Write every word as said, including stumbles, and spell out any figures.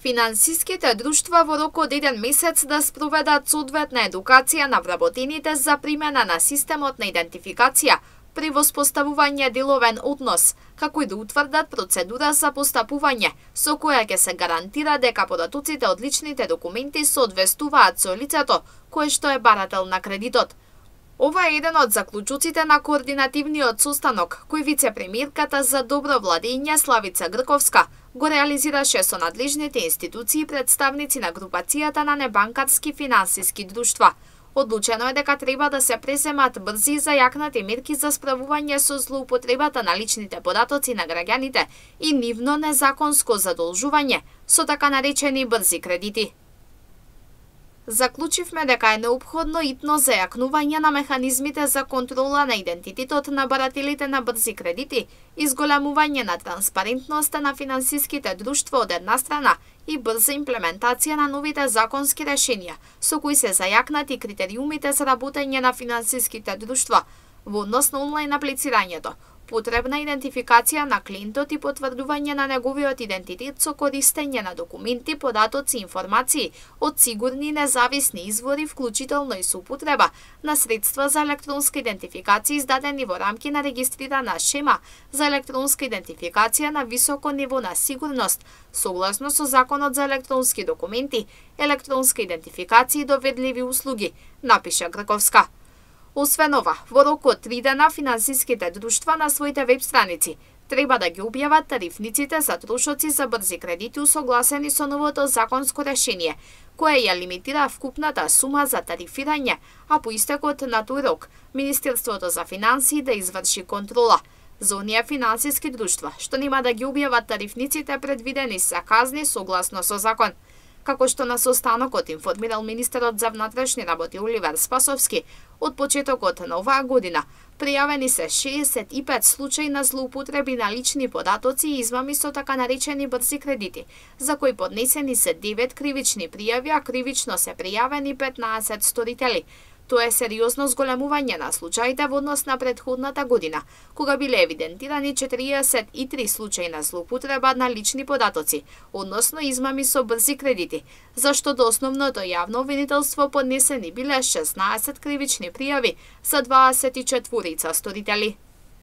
Финансиските друштва во рок од еден месец да спроведат соодветна едукација на вработените за примена на системот на идентификација при воспоставување деловен однос, како и да утврдат процедура за постапување, со која ќе се гарантира дека податоците од личните документи соодветствуваат со лицето кое што е барател на кредитот. Ова е еден од заклучоците на координативниот состанок кој вице-премиерката за добро владење Славица Грковска го реализираше со надлежните институции и представници на групацијата на небанкарски финансиски друштва. Одлучено е дека треба да се преземат брзи и зајакнати мерки за справување со злоупотребата на личните податоци на граѓаните и нивно незаконско задолжување со така наречени брзи кредити. Заклучивме дека е неопходно итно зајакнување на механизмите за контрола на идентитетот на барателите на брзи кредити, изголемување на транспарентноста на финансиските друштва од една страна и брза имплементација на новите законски решенија, со кои се зајакнати критериумите за работење на финансиските друштва во однос на онлайн аплицирањето, потребна идентификација на клиентот и потврдување на неговиот идентитет со користење на документи, податоци и информации од сигурни и независни извори, вклучително и со употреба на средства за електронска идентификација издадени во рамки на регистрирана шема за електронска идентификација на високо ниво на сигурност, согласно со Законот за електронски документи, електронска идентификација и доведливи услуги, напиша Грковска. Освен ова, во рок од три дена финансиските друштва на своите веб страници треба да ги објават тарифниците за трошоци за брзи кредити усогласени со новото законско решение, кое ја лимитира вкупната сума за тарифирање, а по истекот на тој рок, Министерството за финансии да изврши контрола. За оние финансиски друштва што нема да ги објават тарифниците, предвидени се казни согласно со закон. Како што на состанокот информирал министерот за внатрешни работи Оливер Спасовски, од почетокот на оваа година пријавени се шеесет и пет случаи на злоупотреби на лични податоци и измами со така наречени брзи кредити, за кои поднесени се девет кривични пријави, а кривично се пријавени петнаесет сторители. Тоа е сериозно зголемување на случаите во однос на претходната година, кога биле евидентирани четириесет и три случаи на злоупотреба на лични податоци, односно измами со брзи кредити, зашто до основното јавно обвинителство поднесени биле шеснаесет кривични пријави за дваесет и четирица сторители.